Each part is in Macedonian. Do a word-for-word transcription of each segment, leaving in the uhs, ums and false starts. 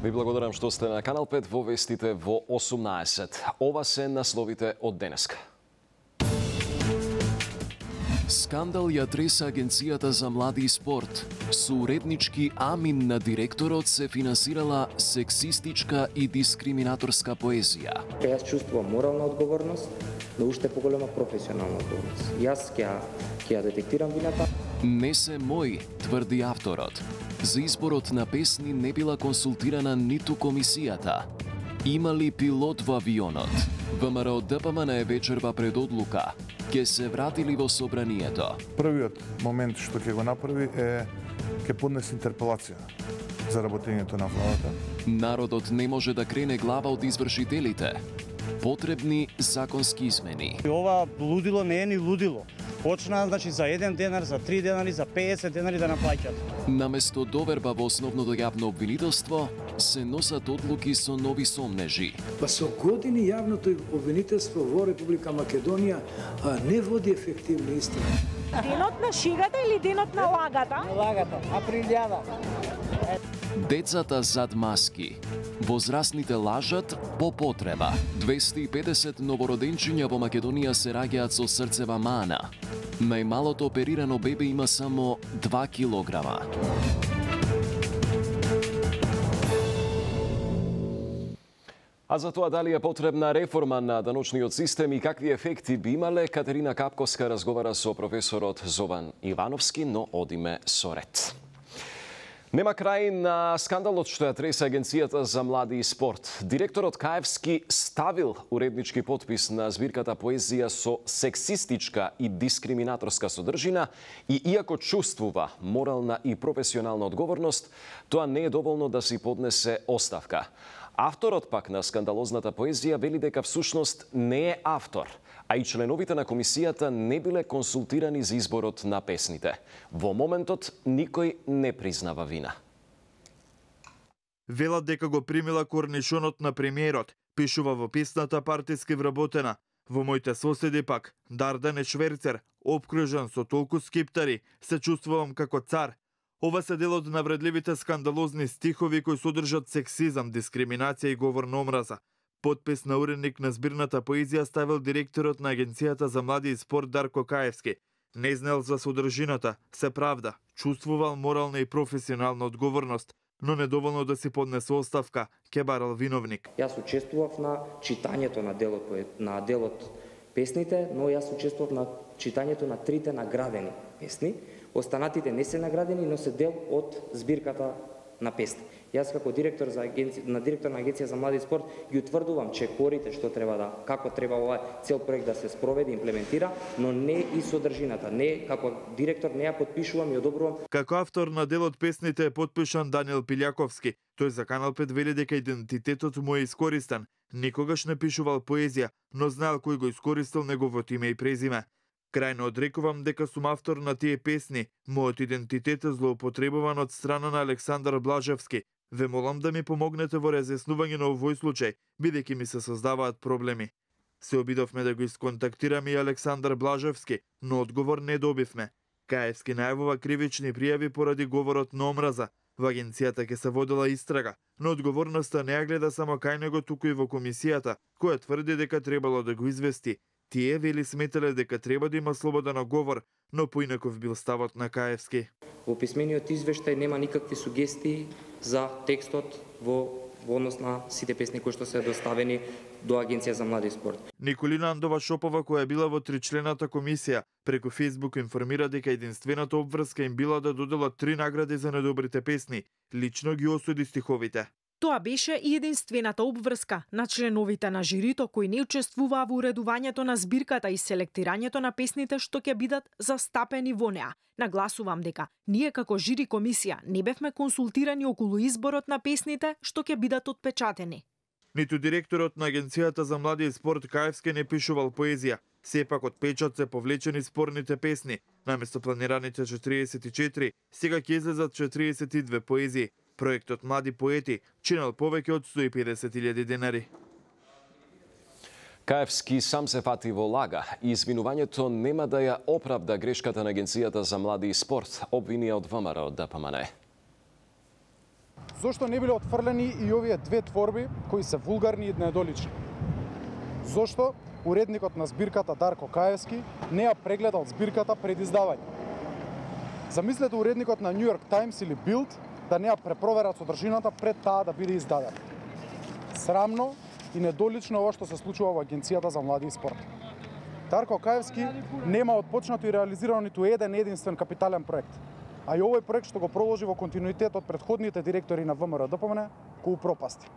Ви благодарам што сте на Канал пет во вестите во осумнаесет. Ова се насловите од денеска. Скандал ја треса Агенцијата за млади и спорт. Со уреднички амин на директорот се финансирала сексистичка и дискриминаторска поезија. Јас чувствувам морална одговорност, но уште поголема професионална одговорност. Јас ќе ќе ја детектирам вината. Не се мои, тврди авторот. За изборот на песни не била консултирана ниту комисијата. Има ли пилот во авионот? ВМРО ДПМН е вечерва пред одлука. Ке се вратили во собранието. Првиот момент што ќе го направи е ќе поднесе интерпелација за работењето на владата. Народот не може да крене глава од извршителите. Потребни законски измени. Ова лудило не е ни лудило. Почна значи за еден денар, за три денари, за педесет денари да наплаќат. Наместо доверба во основното јавно обвинителство, се носат одлуки со нови сомнежи. Па со години јавното обвинителство во Република Македонија не води ефективни истраги. Денот на шегата или денот на лагата? На лагата, априлјада. Децата зад маски. Возрастните лажат по потреба. двесте и педесет новороденчиња во Македонија се раѓаат со срцева мана. Најмалото оперирано бебе има само два килограма. А за тоа дали е потребна реформа на даночниот систем и какви ефекти би имале, Катерина Капковска разговара со професорот Зован Ивановски, но одиме со ред. Нема крај на скандалот што ја тресе Агенцијата за млади и спорт. Директорот Каевски ставил уреднички потпис на збирката поезија со сексистичка и дискриминаторска содржина и иако чувствува морална и професионална одговорност, тоа не е доволно да си поднесе оставка. Авторот пак на скандалозната поезија вели дека всушност не е автор, а и членовите на комисијата не биле консултирани за изборот на песните. Во моментот никој не признава вина. Велат дека го примила корнишонот на премиерот, пишува во песната партиски вработена. Во моите соседи пак, Дардан е шверцер, обкружен со толку скиптари, се чувствувам како цар. Ова се дел од навредливите скандалозни стихови кои содржат сексизам, дискриминација и говор на омраза. Потпис на уредник на збирната поезија ставил директорот на Агенцијата за млади и спорт Дарко Каевски. Не знаел за содржината, се правда, чувствувал морална и професионална одговорност, но недоволно да си поднесе оставка, ке барал виновник. Јас учествував на читањето на делот на делот песните, но јас учествував на читањето на трите наградени песни. Останатите не се наградени, но се дел од збирката на песни. Јас како директор за агенција, на директор на Агенција за млади и спорт ги утврдувам чекорите што треба да, како треба овој цел проект да се спроведе и имплементира, но не и содржината. Не како директор не ја подпишувам и одобрувам. Како автор на делот песните е подпишан Даниел Пилјаковски. Тој за Канал пет вели дека идентитетот му е искористен. Никогаш не пишувал поезија, но знаел кој го искористил неговото име и презиме. Крајно одрекувам дека сум автор на тие песни. Мојот идентитет е злоупотребуван од страна на Александар Блажевски. Ве молам да ми помогнете во разјаснување на овој случај, бидејќи ми се создаваат проблеми. Се обидовме да го исконтактираме и Александар Блажевски, но одговор не добивме. Каевски најавува кривични пријави поради говорот на омраза. Во агенцијата ќе се водела истрага, но одговорноста не ја гледа само кај него, туку и во комисијата, која тврди дека требало да го извести. Тие вели сметале дека треба да има слобода на говор, но поинаков бил ставот на Каевски. Во писмениот извештај нема никакви сугестии за текстот во, во однос на сите песни кои што се доставени до Агенција за млади и спорт. Николина Андова Шопова, која била во тричлената комисија, преку Фејсбук информира дека единствената обврска им била да доделат три награди за недобрите песни. Лично ги осуди стиховите. Тоа беше и единствената обврска на членовите на жирито кои не учествуваа во уредувањето на збирката и селектирањето на песните што ќе бидат застапени во неа. Нагласувам дека ние како жири комисија не бевме консултирани околу изборот на песните што ќе бидат отпечатени. Ниту директорот на Агенцијата за млади и спорт Каевски не пишувал поезија. Сепак од печат се повлечени спорните песни. Наместо планираните четириесет и четири, сега ќе излезат четириесет и две поезии. Проектот Млади поети чинел повеќе од сто и педесет илјади денари. Каевски сам се фати во лага и извинувањето нема да ја оправда грешката на Агенцијата за млади и спорт, обвинија од ВМРО ДПМН. Зошто не биле отфрлени и овие две творби кои се вулгарни и недолични? Зошто уредникот на збирката Дарко Каевски не ја прегледал збирката пред издавање? Замислете уредникот на Нью Йорк Таймс или Билд да не ја препроверат содржината пред таа да биде издадена. Срамно и недолично ова што се случува во Агенцијата за млади и спорт. Дарко Каевски нема отпочнато и реализирано ниту еден единствен капитален проект, а и овој проект што го продолжи во континуитет од претходните директори на ВМРО Д П М Н го упропасти.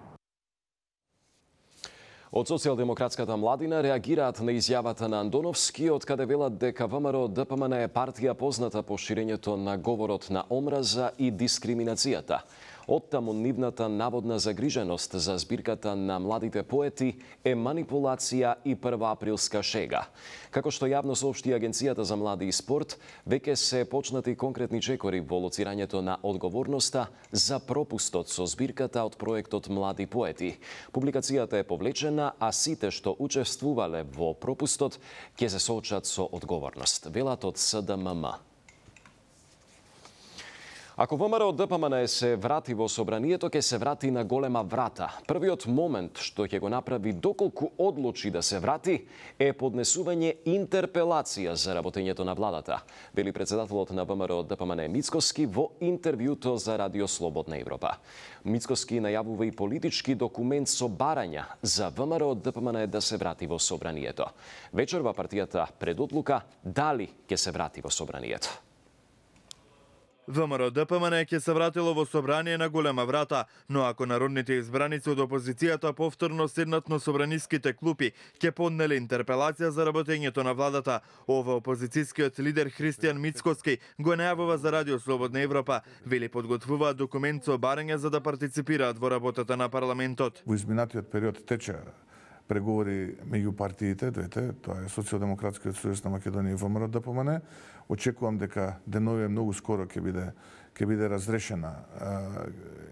Од Социјалдемократската младина реагираат на изјавата на Андоновски, од каде велат дека ВМРО Д П М Н е партија позната по ширењето на говорот на омраза и дискриминацијата. Оттаму нивната наводна загриженост за збирката на младите поети е манипулација и првоаприлска шега. Како што јавно соопшти Агенцијата за млади и спорт, веќе се почнати конкретни чекори во лоцирањето на одговорноста за пропустот со збирката од проектот Млади поети. Публикацијата е повлечена, а сите што учествувале во пропустот ќе се соочат со одговорност, велат од С Д М М. Ако ВМРО Д П М Н се врати во собранието, ќе се врати на голема врата. Првиот момент што ќе го направи доколку одлучи да се врати е поднесување интерпелација за работењето на владата, вели председателот на ВМРО Д П М Н Мицкоски во интервјуто за Радио Слободна Европа. Мицкоски најавува и политички документ со барања за ВМРО Д П М Н да се врати во собранието. Вечерва партијата предодлука дали ќе се врати во собранието. ВМРО Д П М Н ќе се вратило во собрание на голема врата, но ако народните избраници од опозицијата повторно седнат на собраниските клупи, ќе поднеле интерпелација за работењето на владата. Ова опозицијскиот лидер Христијан Мицкоски го најавува за Радио Слободна Европа. Вели подготвуваат документ со барања за да партиципираат во работата на парламентот. Во изминатиот период тече преговори меѓу партиите, двете, тоа е Социјалдемократскиот сојуз на Македонија и ВМРО Д П М Н. Очекувам дека деновиве многу скоро ќе биде ќе биде разрешена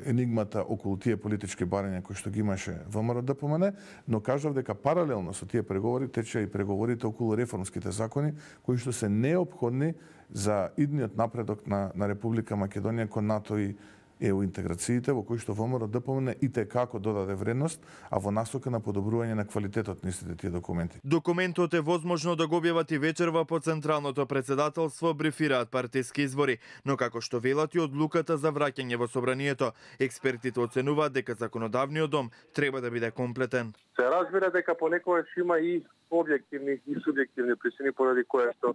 енигмата околу тие политички барања кои што ги имаше ВМРО Д П М Н, но кажав дека паралелно со тие преговори тече и преговорите околу реформските закони кои што се неопходни за идниот напредок на на Република Македонија кон НАТО и е у интеграциите во кои што ВМРО Д П М Н и те како додаде вредност, а во насока на подобрување на квалитетот на истите тие документи. Документот е возможно да го објават и вечерва по Централното председателство, брифираат партиски избори, но како што велат и одлуката за враќање во собранието, експертите оценуваат дека законодавниот дом треба да биде комплетен. Се разбира дека понекогаш има и објективни и субјективни причини поради кои што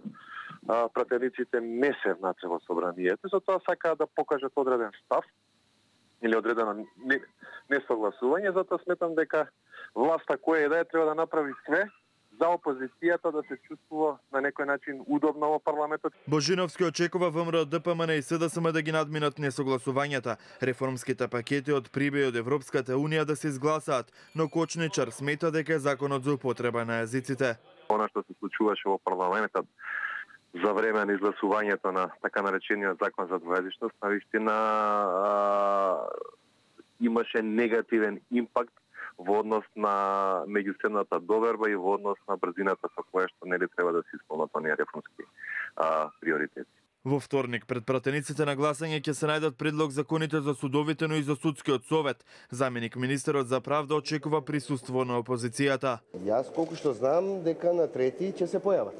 а, пратениците не се внатре во собранието, затоа сакаат да покажат одреден став или одредено несогласување, затоа сметам дека власта која е да е треба да направи све за опозицијата да се чувствува на некој начин удобно во парламентот. Божиновски очекува ВМРО Д П М Н и С Д С М да ги надминат несогласувањата, реформските пакети од Прибеј од Европската Унија да се изгласаат, но Кочничар смета дека е законот за употреба на јазиците. Она што се случуваше во парламентот за време на изгласувањето на така наречениот закон за двојазичност, навистина имаше негативен импакт во однос на меѓусебната доверба и во однос на брзината со која што нели треба да се исполнат оние реформски а, приоритети. Во вторник пред пратениците на гласање ќе се најдат предлог законите за судовите, но и за судскиот совет. Заменик министерот за правда очекува присуство на опозицијата. Јас колку што знам дека на трети ќе се појават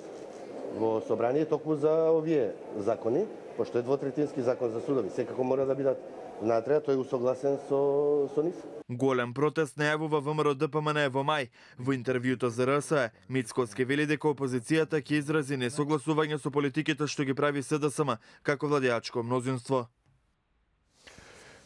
во собрание токму за овие закони, пошто е двотретински закон за судови, секако мора да бидат внатре, тој е усогласен со, со нив. Голем протест најавува ВМРО Д П М Н во мај. Во интервјуто за Р С Е, Мицкоски вели дека опозицијата ќе изрази несогласување со политиките што ги прави С Д С М како владеачко мнозинство.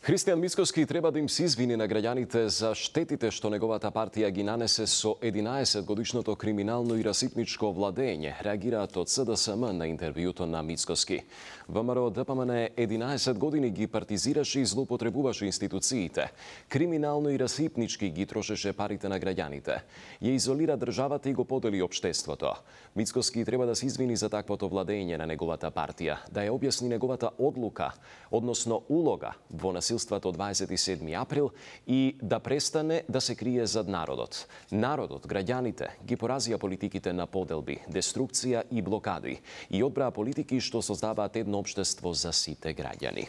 Христијан Мицкоски треба да им се извини на граѓаните за штетите што неговата партија ги нанесе со единаесет годишното криминално и расипничко владење, реагираат од С Д С М на интервјуто на Мицкоски. ВМРО Д П М Н единаесет години ги партизираше и злоупотребуваше институциите. Криминално и расипнички ги трошеше парите на граѓаните. Ја изолира државата и го подели општеството. Мицкоски треба да се извини за таквото владење на неговата партија, да ја објасни неговата одлука, односно улога во насилството од дваесет и седми април и да престане да се крие зад народот. Народот, граѓаните, ги поразија политиките на поделби, деструкција и блокади и одбраа политики што создаваат едно општество за сите граѓани.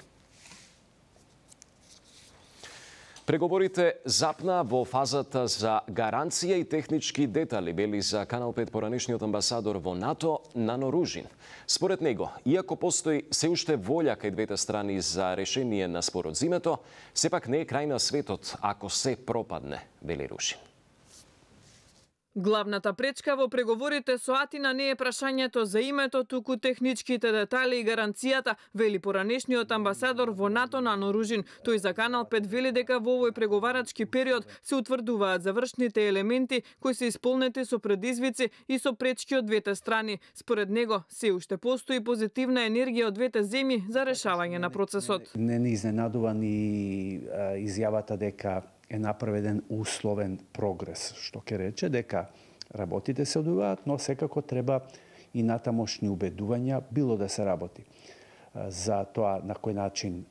Преговорите запна во фазата за гаранција и технички детали, вели за Канал пет поранешниот амбасадор во НАТО Нано Ружин. Според него, иако постои се уште волја кај двете страни за решение на спорот зимето, сепак не е крај на светот ако се пропадне, вели Ружин. Главната пречка во преговорите со Атина не е прашањето за името, туку техничките детали и гаранцијата, вели поранешниот амбасадор во НАТО Нано Ружин. Тој за Канал пет вели дека во овој преговарачки период се утврдуваат завршните елементи кои се исполнети со предизвици и со пречки од двете страни. Според него, се уште постои позитивна енергија од двете земји за решавање на процесот. Не ни изненадува ни изјавата дека е направен условен прогрес, што ќе рече дека работите се одвиваат, но секако треба и натамошни убедувања било да се работи. За тоа на кој начин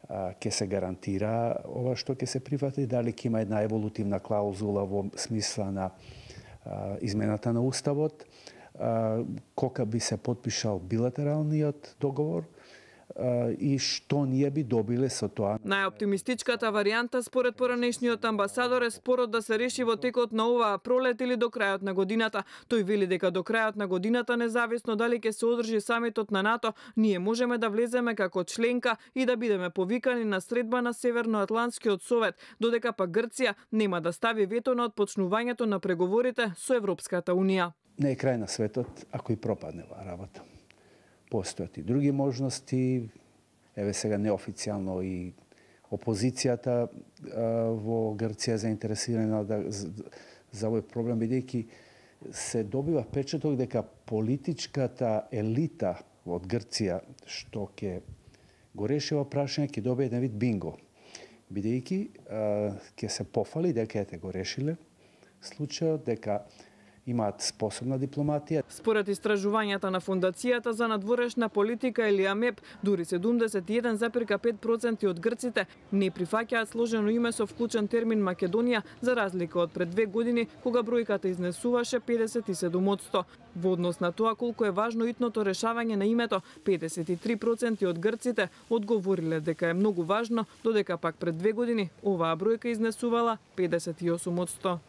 ќе се гарантира ова што ќе се прифати, дали ќе има една еволутивна клаузула во смисла на измената на уставот, кога би се потпишал билатералниот договор, и што ние би добиле со тоа. Најоптимистичката варијанта според поранешниот амбасадор е спорот да се реши во текот на оваа пролет или до крајот на годината. Тој вели дека до крајот на годината, независно дали ќе се одржи самитот на НАТО, ние можеме да влеземе како членка и да бидеме повикани на средба на Северноатлантскиот совет, додека пак Грција нема да стави вето на отпочнувањето на преговорите со Европската унија. Не е крај на светот ако и пропадне оваа работа. Постојат и други можности. Еве сега неофицијално и опозицијата во Грција заинтересирана да, за овој проблем, бидејќи се добива впечаток дека политичката елита од Грција што ќе го реши ова прашање ќе добие еден вид бинго. Бидејќи ќе се пофали дека ете го решиле случајот, дека имаат способна дипломатија. Според истражувањата на Фондацијата за надворешна политика или АМЕП, дури седумдесет и еден запирка пет проценти од грците не прифаќаат сложено име со вклучен термин Македонија, за разлика од пред две години, кога бројката изнесуваше педесет и седум одсто. Во однос на тоа колку е важно итното решавање на името, педесет и три проценти од грците одговориле дека е многу важно, додека пак пред две години оваа бројка изнесувала педесет и осум одсто.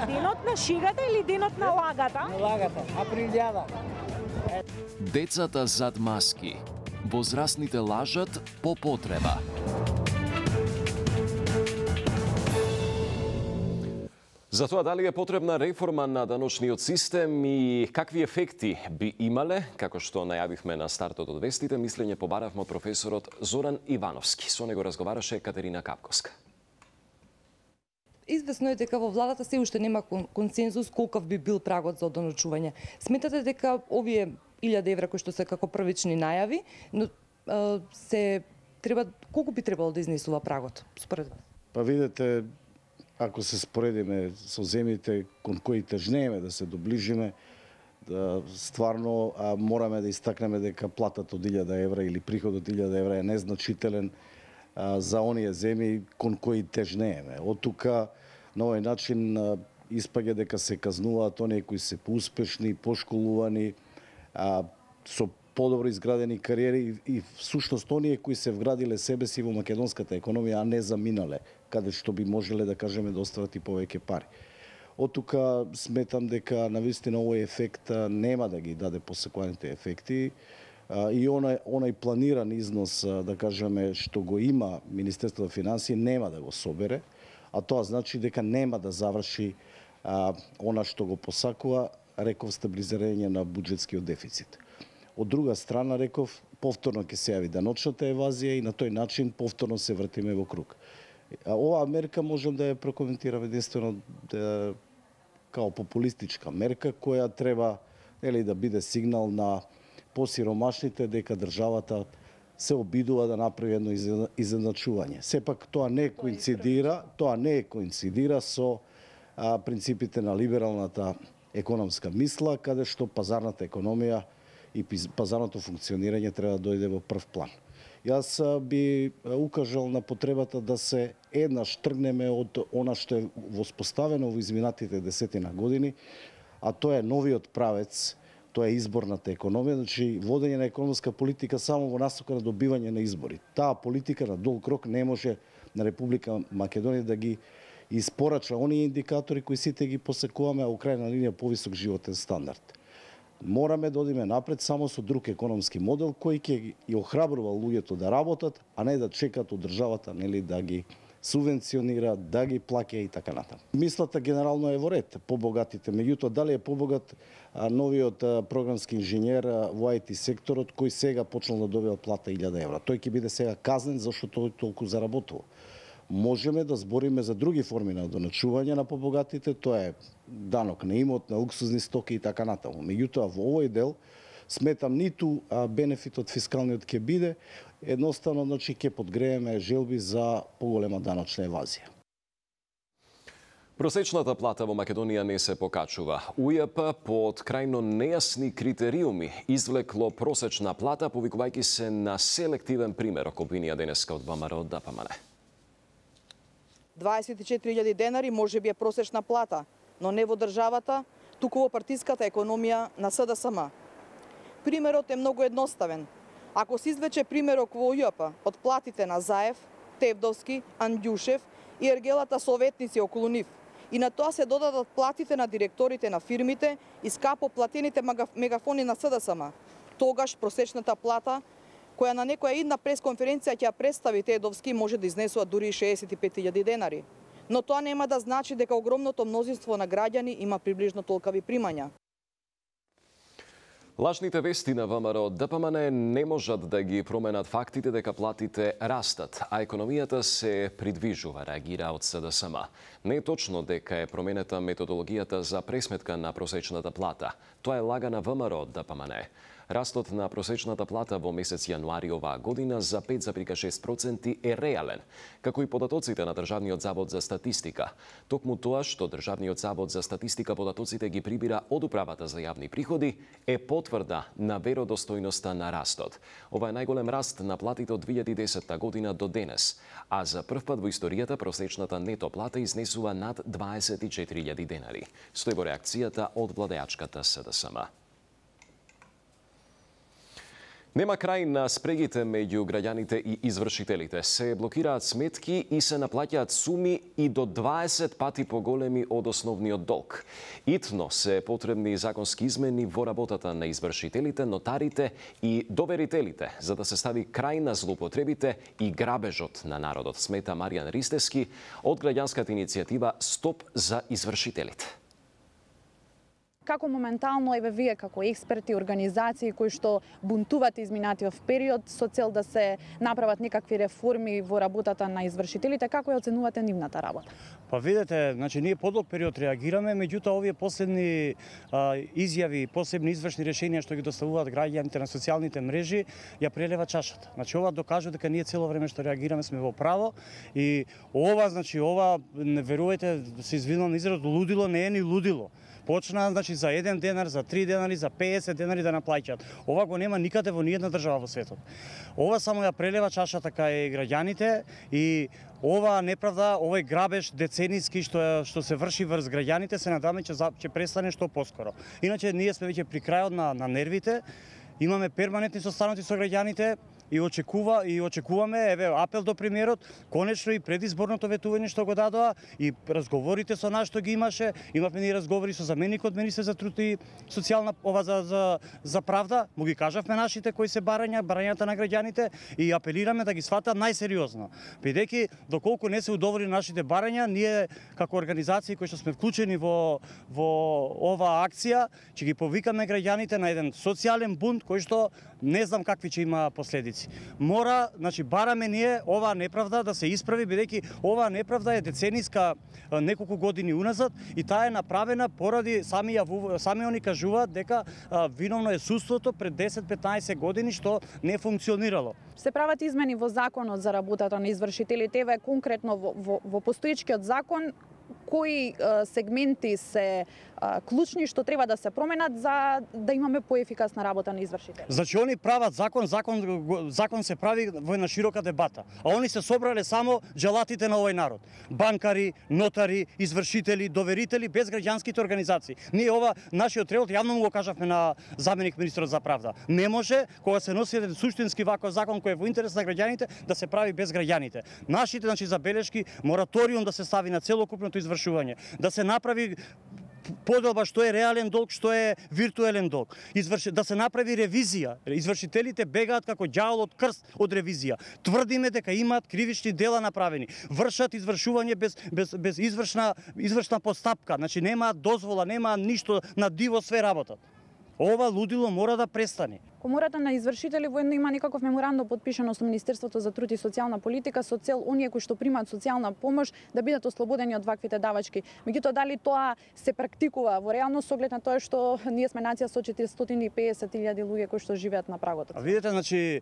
Денот на шегата или денот на лагата? На лагата, априлјада. Децата зад маски. Возрастните лажат по потреба. За тоа дали е потребна реформа на даночниот систем и какви ефекти би имале, како што најавивме на стартот од вестите, мислење побаравме од професорот Зоран Ивановски. Со него разговараше Катерина Капковска. Известно е дека во владата се уште нема консензус колков би бил прагот за одоночување. Сметате дека овие илјада евра кои што се како првични најави, но а, се треба колку би требало да изнесува прагот според вас? Па видете, ако се споредиме со земјите кон кои тежнееме да се доближиме, да стварно а, мораме да истакнеме дека платата од илјада евра или приходот од илјада евра е незначителен за оние земји кон кои тежнееме. Од тука на овој начин испаѓа дека се казнуваат оние кои се поуспешни, пошколувани, а, со подобро изградени кариери и всушност оние кои се вградиле себе си во македонската економија, а не заминале, каде што би можеле да кажеме да остават и повеќе пари. Од тука сметам дека навистина овој ефект нема да ги даде посекуваните ефекти. И онај, онај планиран износ, да кажеме, што го има Министерството за финансии, нема да го собере, а тоа значи дека нема да заврши а, она што го посакува, реков, стабилизирање на буџетскиот дефицит. Од друга страна, реков, повторно ќе се јави даночната евазија и на тој начин повторно се вртиме во круг. А оваа мерка можам да ја прокоментирам единствено да, као популистичка мерка, која треба нели, да биде сигнал на посиромашните дека државата се обидува да направи едно изедначување. Сепак тоа не коинцидира, тоа не коинцидира со а, принципите на либералната економска мисла, каде што пазарната економија и пазарното функционирање треба да дојде во прв план. Јас би укажал на потребата да се еднаш тргнеме од она што е воспоставено во изминатите десетина години, а тоа е новиот правец Тоа е изборната економија, значи водење на економска политика само во насока на добивање на избори. Таа политика на долг рок не може на Република Македонија да ги испорача оние индикатори кои сите ги посекуваме, а у крајна линија повисок животен стандард. Мораме да одиме напред само со друг економски модел кој ќе ги охрабрува луѓето да работат, а не да чекат од државата, нели, да ги субвенционира, да ги плаќа и така натаму. Мислата генерално е во ред, побогатите. Меѓутоа, дали е побогат а, новиот а, програмски инженер а, во ай ти секторот, кој сега почнал да добива плата илјада евра? Тој ќе биде сега казнен зашто тој толку заработува. Можеме да збориме за други форми на доначување на побогатите, тоа е данок на имот, на луксузни стоки и така натаму. Меѓутоа, во овој дел сметам ниту а, бенефитот фискалниот ќе биде, едноставно, значи, ќе подгрееме желби за поголема даночна евазија. Просечната плата во Македонија не се покачува. У Ј П под крајно нејасни критериуми извлекло просечна плата, повикувајќи се на селективен примерок, обвинија денеска од ВМРО Д П М Н. дваесет и четири илјади денари може би е просечна плата, но не во државата, туку во партиската економија на С Д С М. Примерот е многу едноставен. Ако се извлече примерок во Ј П од платите на Заев, Тевдовски, Андјушев и ергелата советници околу нив, и на тоа се додадат платите на директорите на фирмите и скапо платените мегафони на С Д С М, тогаш просечната плата, која на некоја идна пресконференција ќе ја представи Тедовски, може да изнесува дури и шеесет и пет илјади денари. Но тоа нема да значи дека огромното мнозинство на граѓани има приближно толкави примања. Лажните вести на ВМРО Д П М Н не можат да ги променат фактите дека платите растат, а економијата се придвижува, реагира од С Д С М. Не е точно дека е променета методологијата за пресметка на просечната плата. Тоа е лага на ВМРО Д П М Н. Растот на просечната плата во месец јануари оваа година за пет зарез шест проценти е реален, како и податоците на Државниот завод за статистика. Токму тоа што Државниот завод за статистика податоците ги прибира од Управата за јавни приходи е потврда на веродостојноста на растот. Ова е најголем раст на платите од две илјади и десета година до денес, а за прв пат во историјата просечната нето плата изнесува над дваесет и четири илјади денари. Стои во реакцијата од владеачката С Д С М. Нема крај на спрегите меѓу граѓаните и извршителите. Се блокираат сметки и се наплаќаат суми и до дваесет пати поголеми од основниот долг. Итно се потребни законски измени во работата на извршителите, нотарите и доверителите, за да се стави крај на злоупотребите и грабежот на народот, смета Маријан Ристевски од граѓанската иницијатива Стоп за извршителите. Како моментално еве вие како експерти, организации кои што бунтувате изминатиот период со цел да се направат некакви реформи во работата на извршителите, како ја оценувате нивната работа? Па видете, значи ние подолг период реагираме, меѓутоа овие последни а, изјави, посебни извршни решенија што ги доставуваат граѓаните на социјалните мрежи ја прелева чашата. Значи ова докажува дека ние цело време што реагираме сме во право и ова, значи ова, не верувајте, се извинувам на изразот, лудило не е ни лудило. Почна, значи, за еден денар, за три денари, за пеесет денари да наплаќаат. Ова го нема никаде во ниедна држава во светот. Ова само ја прелева чашата кај граѓаните и ова неправда, овој грабеж децениски што што се врши врз граѓаните, се надаме ќе ќе престане што поскоро. Иначе ние сме веќе при крајот на на нервите. Имаме перманентни состаноци со граѓаните и очекува и очекуваме еве апел до премиерот, конечно и предизборното ветување што го дадоа и разговорите со нас што ги имаше, имавме и разговори со заменикот министер за труд и социјална ова за за за правда, му ги кажавме нашите кои се барања, барањата на граѓаните и апелираме да ги сватат најсериозно. Бидејќи доколку не се удоволи нашите барања, ние како организации кои што сме вклучени во во оваа акција, ќе ги повикаме граѓаните на еден социјален бунт кој што не знам какви ќе има последици. Мора, значи бараме ние оваа неправда да се исправи, бидејќи оваа неправда е децениска, неколку години уназад и таа е направена поради сами ја, сами они кажуваат дека а, виновно е суството пред десет петнаесет години што не функционирало. Се прават измени во законот за работата на извршителите, еве конкретно во, во, во постоечкиот закон, кои сегменти се клучни што треба да се променат за да имаме поефикасна работа на извршители. Значи они прават закон, закон закон се прави во една широка дебата, а они се собрале само джелатите на овој народ. Банкари, нотари, извршители, доверители без граѓанските организации. Ние ова нашиот тревот јавно му го кажавме на заменик министерот за правда. Не може кога се носи еден суштински ваков закон кој е во интерес на граѓаните да се прави без граѓаните. Нашите значи забелешки мораториум да се стави на целокупното извршување, да се направи поделба што е реален долг, што е виртуелен долг. Изврши, да се направи ревизија. Извршителите бегаат како ѓавол од крст од ревизија. Тврдиме дека имаат кривични дела направени. Вршат извршување без без без извршна извршна постапка. Значи немаат дозвола, немаат ништо, на диво све работат. Ова лудило мора да престане. Комората на извршители воедно има некаков меморандум подпишано со Министерството за труд и социјална политика со цел оние кои што примаат социјална помош да бидат ослободени од ваквите давачки. Меѓутоа дали тоа се практикува во реалност со оглед на тоа што ние сме нација со четиристотини и песет илјади луѓе кои што живеат на прагот. А видите, значи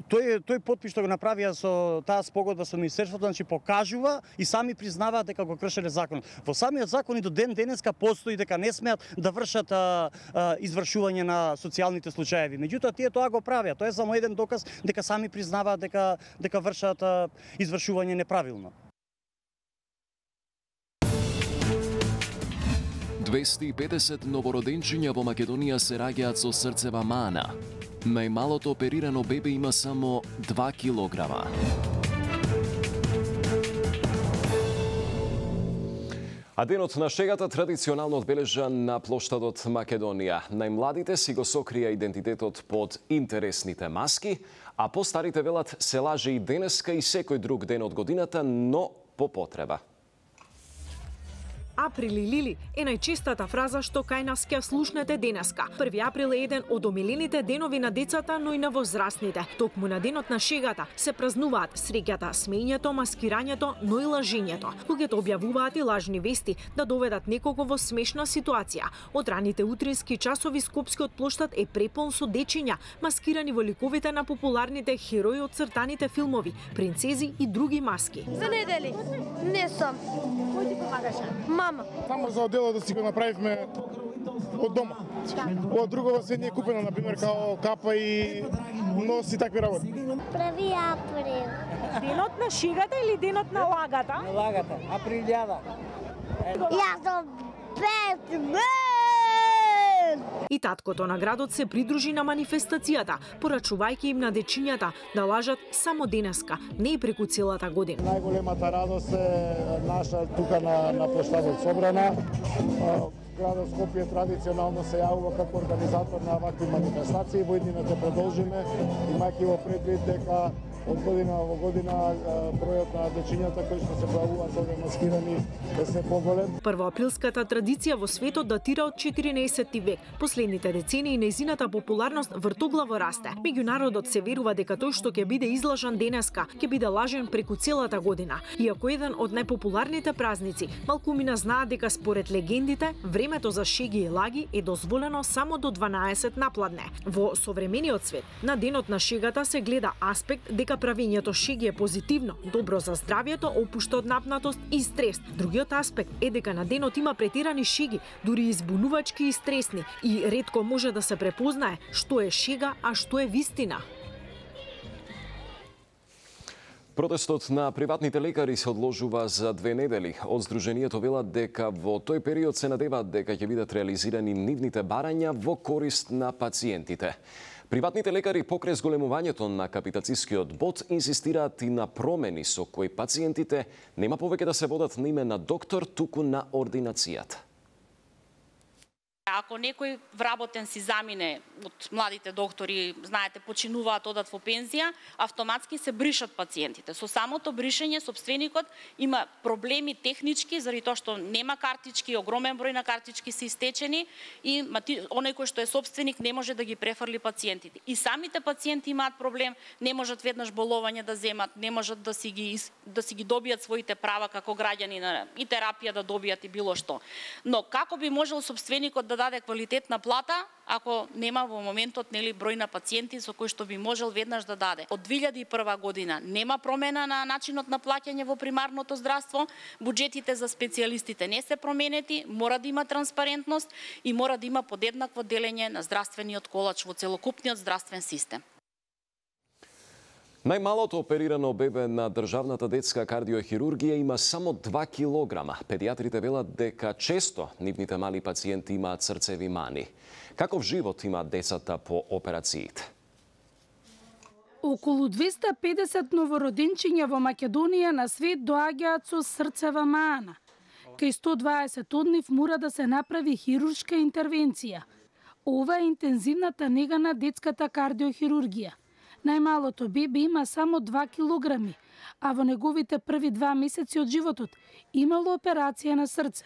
тој тој подпис што го направија со таа спогодба со Министерството, значи покажува и сами признаваат дека го кршеле законот. Во самиот закон и до ден денеска постои дека не смеат да вршат а, а, извршување на социјалните случаеви. Меѓутоа тие тоа го правеа. Тоа е само еден доказ дека сами признаваат дека дека вршат а, извршување неправилно. двесте и педесет новороденчиња во Македонија се раѓаат со срцева мана. Најмалото оперирано бебе има само два килограма. А денот на шегата традиционално одбележан на плоштадот Македонија. Најмладите си го сокрија идентитетот под интересните маски, а постарите велат се лаже и денеска и секој друг ден од годината, но по потреба. Април и Лили е најчестата фраза што кај нас ќе слушнете денеска. први април е еден од омилените денови на децата, но и на возрастните. Токму на денот на шегата се празнуваат среќата, смењето, маскирањето, но и лажењето. Луѓето објавуваат и лажни вести да доведат некого во смешна ситуација. Од раните утрински часови Скопскиот плоштад е препон со дечиња, маскирани во ликовите на популарните херои од цртаните филмови, принцези и други маски. За недели не сум. Кој ти помагаше? Мама. Само за оделот да си го направивме од дома. Ова другова се не е купено, например, као капа и нос и такви работи. први април. Денот на шегата или денот на лагата? На лагата, априлјада. Јас сум Бетмен! И таткото на градот се придружи на манифестацијата, порачувајќи им на дечињата да лажат само денеска, не и преку целата година. Најголемата радост е наша тука на, на плоштадот Собрана. Градот Скопје традиционално се јавува како организатор на вакви манифестации. Во иднината продолжиме, имајќи во предвид дека од година во година бројот на дечињата кои што се појавуваат овде маскирани е се поголем. Првоаприлската традиција во светот датира од четиринаесетти век. Последните децении нејзината популарност вртоглаво расте. Меѓу народот се верува дека тој што ќе биде излажан денеска, ќе биде лажен преку целата година. Иако еден од најпопуларните празници, малкумина знаат дека според легендите, времето за шеги и лаги е дозволено само до дванаесет напладне. Во современиот свет, на денот на шегата се гледа аспект дека правењето шеги е позитивно, добро за здравјето, опушта од напнатост и стрес. Другиот аспект е дека на денот има претирани шеги, дури избунувачки и стресни, и ретко може да се препознае што е шега, а што е вистина. Протестот на приватните лекари се одложува за две недели. Од Сдруженијето велат дека во тој период се надеваат дека ќе бидат реализирани нивните барања во корист на пациентите. Приватните лекари покрај зголемувањето на капитацискиот бод инсистираат и на промени со кои пациентите нема повеќе да се водат на име на доктор, туку на ординацијата. Ако некој вработен си замине од младите доктори, знаете, починуваат, одат во пензија, автоматски се бришат пациентите. Со самото бришење, сопственикот има проблеми технички, заради тоа што нема картички, огромен број на картички се истечени и оној кој што е сопственик не може да ги префрли пациентите. И самите пациенти имаат проблем, не можат веднаш боловање да земат, не можат да си ги да си ги добијат своите права како граѓани, и терапија да добијат и било што. Но како би можел сопственикот да да даде квалитетна плата ако нема во моментот нели број на пациенти со кои што би можел веднаш да даде. Од две илјади и прва година нема промена на начинот на плаќање во примарното здравство, буџетите за специјалистите не се променети, мора да има транспарентност и мора да има подеднакво делење на здравствениот колач во целокупниот здравствен систем. Најмалото оперирано бебе на државната детска кардиохирургија има само два килограма. Педиатрите велат дека често нивните мали пациенти имаат срцеви мани. Каков живот имаат децата по операциите? Околу двесте и педесет новороденчиња во Македонија на свет доаѓаат со срцева мана. Кај сто и дваесет од нив мора да се направи хируршка интервенција. Ова е интензивната нега на детската кардиохирургија. Најмалото бебе има само два килограми, а во неговите први два месеци од животот имало операција на срце.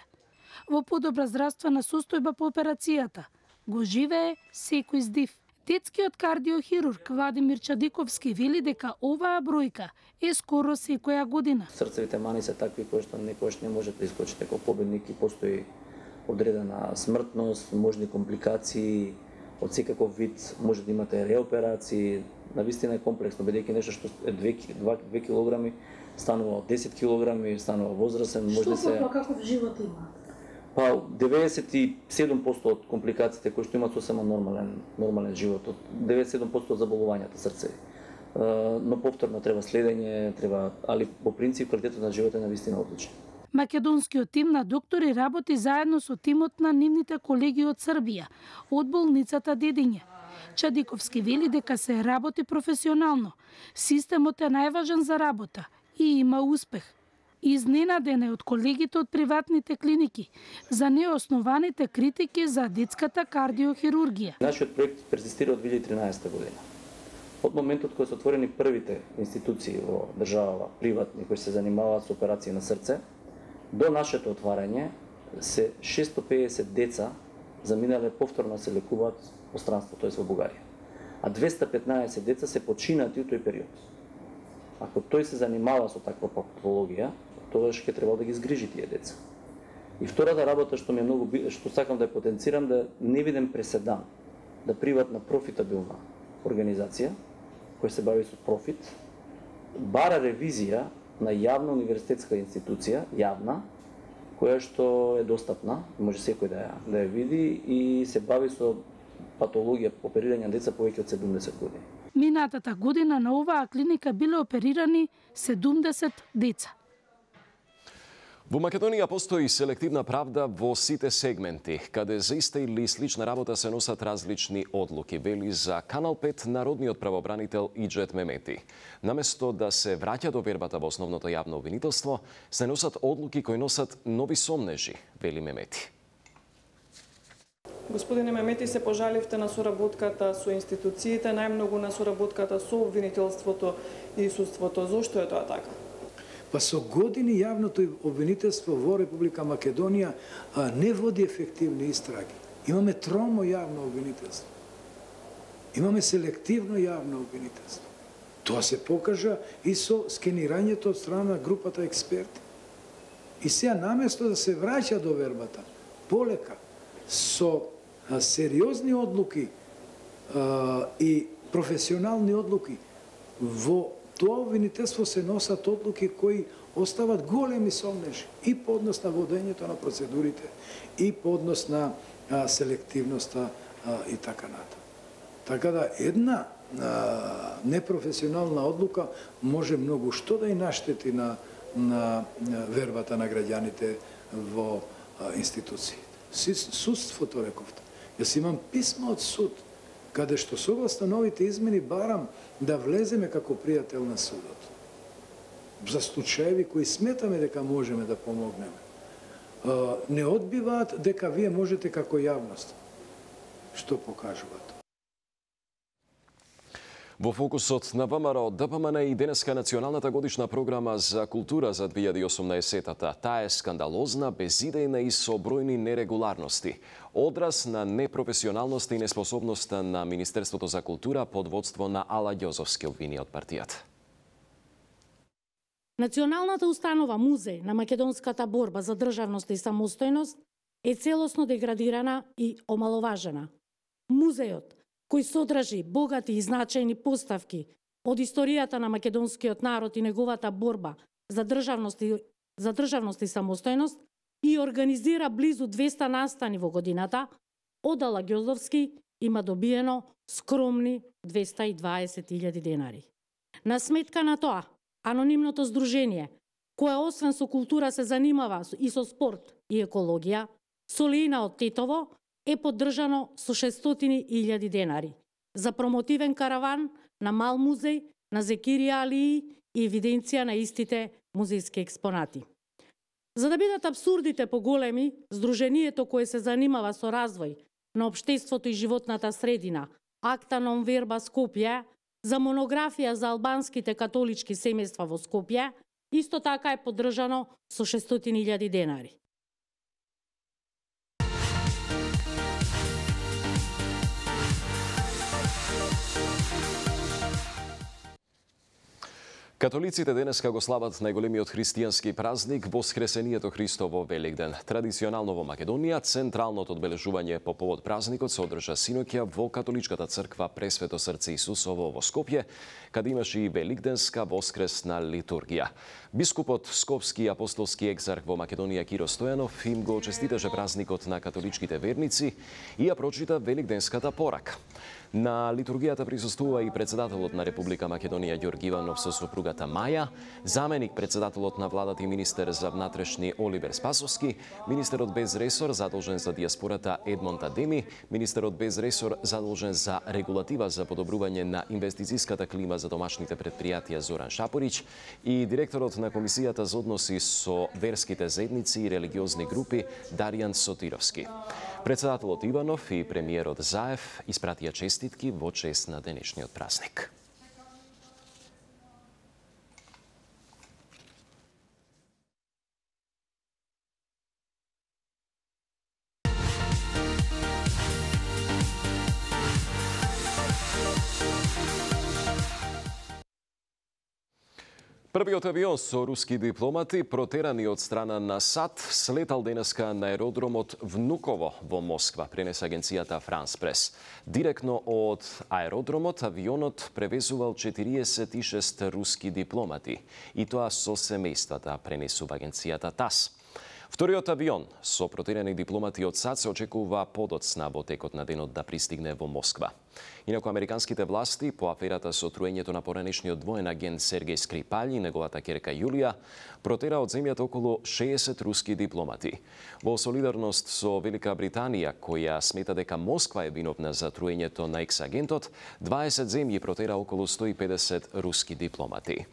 Во подобра здравствена состојба по операцијата го живее секој здив. Детскиот кардиохирург Владимир Чадиковски вели дека оваа бројка е скоро секоја година. Срцевите мани се такви кои што некојаш не може да искочите како победник и постои одредена смртност, можни компликации од секаков вид, може да имате реоперации. Навистина е комплексно, бидејќи нешто што е две килограми станува од десет килограми, станува возрастен, може да се... Што каков живот има? Па деветдесет и седум проценти од компликациите кои што имаат сосема нормален нормален живот, од деветдесет и седум проценти од заболувањата срцеви. Но повторно треба следење, треба, али по принцип квалитетот на живот е навистина одличен. Македонскиот тим на доктори работи заедно со тимот на нивните колеги од Србија, од болницата Дедиње. Чадиковски вели дека се работи професионално. Системот е најважен за работа и има успех. Изненаден е од колегите од приватните клиники за неоснованите критики за детската кардиохирургија. Нашиот проект перзистира од две илјади и тринаесета година. Од моментот кога се отворени првите институции во државава, приватни, кои се занимаваат со операции на срце, до нашето отварање се шестстотини и педесет деца заминале повторно се лекуваат во странство, тоест во Бугарија. А двесте и петнаесет деца се починати у тој период. Ако тој се занимава со таква патологија, тогаш ќе требало да ги згрижи тие деца. И втората работа што ми е многу што сакам да ја потенцирам, да не видам преседан да приватна профитабилна организација која се бави со профит бара ревизија на јавна универзитетска институција, јавна, која што е достапна, може секој да ја, да ја види и се бави со патологија оперирање на деца повеќе од седумдесет години. Минатата година на оваа клиника биле оперирани седумдесет деца. Во Македонија постои селективна правда во сите сегменти, каде за иста или слична работа се носат различни одлуки, вели за Канал пет народниот правобранител Иџет Мемети. Наместо да се враќа до вербата во основното јавно обвинителство, се носат одлуки кои носат нови сомнежи, вели Мемети. Господине Мемети, се пожаливте на соработката со институциите, најмногу на соработката со обвинителството и судството. Зошто е тоа така? Па со години јавното обвинителство во Република Македонија а, не води ефективни истраги. Имаме тромо јавно обвинителство. Имаме селективно јавно обвинителство. Тоа се покажа и со скенирањето од страна на групата експерти. И сега наместо да се враќа до вербата, полека, со а, сериозни одлуки а, и професионални одлуки, во тоа обвинителство се носат одлуки кои остават големи сомнежи и по однос на водењето на процедурите, и по однос на а, селективноста а, и така натаму. Така да една а, непрофесионална одлука може многу што да и наштети на, на, на вербата на граѓаните во а, институциите. Судството, рековте. Јас имам писмо од суд, каде што согласно новите измени барам да влеземе како пријател на судот. За случаеви кои сметаме дека можеме да помогнеме. Не одбиваат дека вие можете како јавност. Што покажуваат? Во фокусот на ВМРО ДПМН и денеска националната годишна програма за култура за две илјади и осумнаесета. Таа е скандалозна, безидејна и со бројни нерегуларности. Одраз на непрофесионалноста и неспособноста на Министерството за култура под водство на Ала Ѓозовски, обвини од партијата. Националната установа Музеј на македонската борба за државност и самостојност е целосно деградирана и омаловажена. Музеот, кој содржи богати и значајни поставки од историјата на македонскиот народ и неговата борба за државност и, за државност и самостојност, и организира близу двеста настани во годината, од Ала Ѓоздовски има добиено скромни двеста и дваесет илјади денари. На сметка на тоа, анонимното здружение, кое освен со култура се занимава и со спорт и екологија, Солеина од Тетово, е поддржано со шестстотини илјади денари за промотивен караван на мал музеј на Зекирија Алии и евиденција на истите музејски експонати. За да бидат абсурдите поголеми, здружението кое се занимава со развој на општеството и животната средина, Акта нон верба Скопје, за монографија за албанските католички семејства во Скопје, исто така е поддржано со шестстотини илјади денари. Католиците денеска го слават најголемиот христијански празник Воскресението Христово Великден. Традиционално во Македонија, централното одбележување по повод празникот се одржа синоќа во Католичката црква Пресвето срце Исусово во Скопје, каде имаше и Великденска воскресна литургија. Бискупот Скопски апостолски екзарх во Македонија Киро Стојанов им го честиташе празникот на католичките верници и ја прочита Великденската порака. На литургијата присуствува и председателот на Република Македонија Ѓорги Иванов со сопругата Маја, заменик председателот на владата и министер за внатрешни Оливер Спасовски, министерот без ресор задолжен за диаспората Едмонд Адеми, министерот без ресор задолжен за регулатива за подобрување на инвестицијската клима за домашните предпријатија Зоран Шапорич и директорот на Комисијата за односи со верските заедници и религиозни групи Даријан Сотировски. Председателот Иванов и премиерот Заев испратија честитки во чест на денешниот празник. Првиот авион со руски дипломати, протерани од страна на САД, слетал денеска на аеродромот Внуково во Москва, пренесе агенцијата Франс Прес. Директно од аеродромот авионот превезувал четириесет и шест руски дипломати, и тоа со семејствата, пренесува агенцијата ТАСС. Вториот авион со протерани дипломати од САД се очекува подоцна во текот на денот да пристигне во Москва. Инаку американските власти по аферата со труењето на поранешниот двоен агент Сергеј Скрипалј и неговата ќерка Јулија протера од земјата околу шеесет руски дипломати. Во солидарност со Велика Британија, која смета дека Москва е виновна за труењето на екс-агентот, дваесет земји протера околу сто и педесет руски дипломати.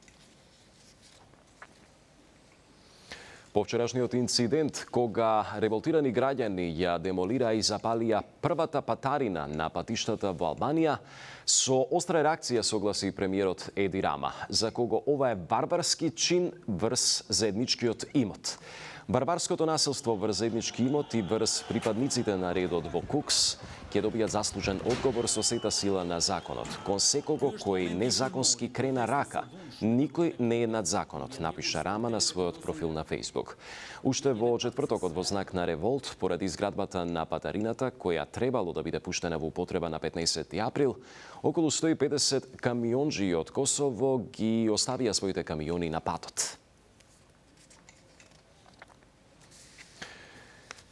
По вчерашниот инцидент, кога револтирани граѓани ја демолира и запалија првата патарина на патиштата во Албанија, со остра реакција согласи премиерот Еди Рама, за кого ова е барбарски чин врз заедничкиот имот. Барбарското насилство врз заеднички имот и врз припадниците на редот во Кукс ќе добијат заслужен одговор со сета сила на законот. Кон секого кој незаконски крена рака, никој не е над законот, напиша Рама на својот профил на Facebook. Уште во четвртокот во знак на револт, поради изградбата на патарината, која требало да биде пуштена во употреба на петнаесети април, околу сто и педесет камионџи од Косово ги оставија своите камиони на патот.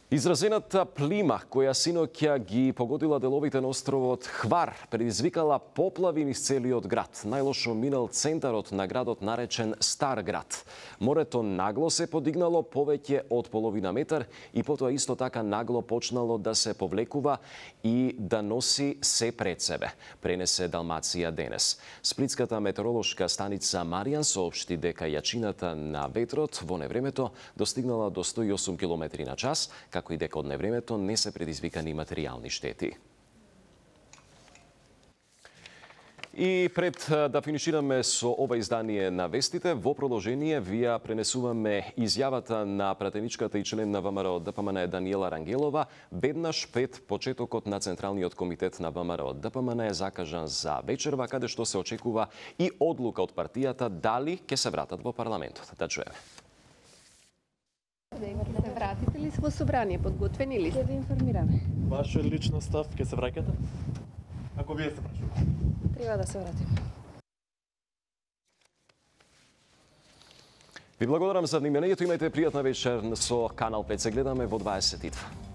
Изразената плима, која синоќа ги погодила деловите на островот Хвар, предизвикала поплави низ целиот град. Најлошо минал центарот на градот наречен Стар град. Морето нагло се подигнало повеќе од половина метар и потоа исто така нагло почнало да се повлекува и да носи се пред себе, пренесе Далмација денес. Сплитската метеоролошка станица Маријан соопшти дека јачината на ветрот во невремето достигнала до сто и осум километри на час, како и дека од невремето не се предизвикани материјални штети. И пред да финишираме со ова издание на вестите, во продолжение вија пренесуваме изјавата на пратеничката и член на ВМРО ДПМН Даниела Рангелова, веднаш пред почетокот на Централниот комитет на ВМРО ДПМН е закажан за вечерва, каде што се очекува и одлука од партијата дали ќе се вратат во парламентот. Да чуеме. Ќе се вратите ли во собрание? Подготвени ли сте? Ќе ви информираме. Ваша лична став, ќе се враќате? Ако вие се прашувате. Треба да се вратиме. Ви благодарам за вниманието. Имајте пријатна вечер со Канал пет. Се гледаме во дваесет и два.